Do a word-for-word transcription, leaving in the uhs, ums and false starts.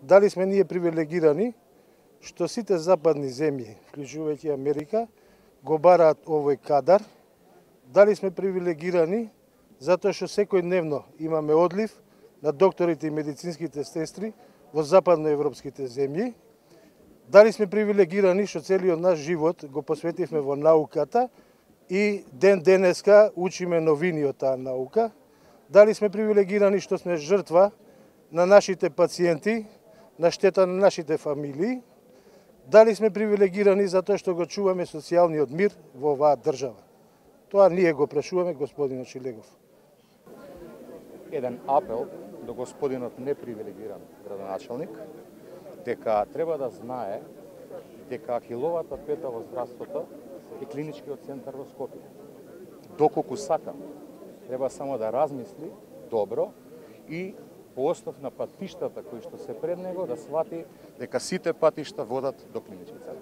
дали сме ние привилегирани што сите западни земји, вклучувајќи Америка, го бараат овој кадар, дали сме привилегирани затоа што секојдневно имаме одлив на докторите и медицинските сестри во западноевропските земји, дали сме привилегирани што целиот наш живот го посветивме во науката и ден денеска учиме новини од таа наука, дали сме привилегирани што сме жртва на нашите пациенти, на штета на нашите фамилии, дали сме привилегирани затоа што го чуваме социјалниот мир во оваа држава. Тоа ние го прашуваме господинот Шилегов. Еден апел до господинот непривилегиран градоначалник, дека треба да знае дека ахиловата пета во здравството е клиничкиот центар во Скопје. Доколку сака, треба само да размисли добро и по основ на патиштата кои што се пред него да свати дека сите патишта водат до клинички центар.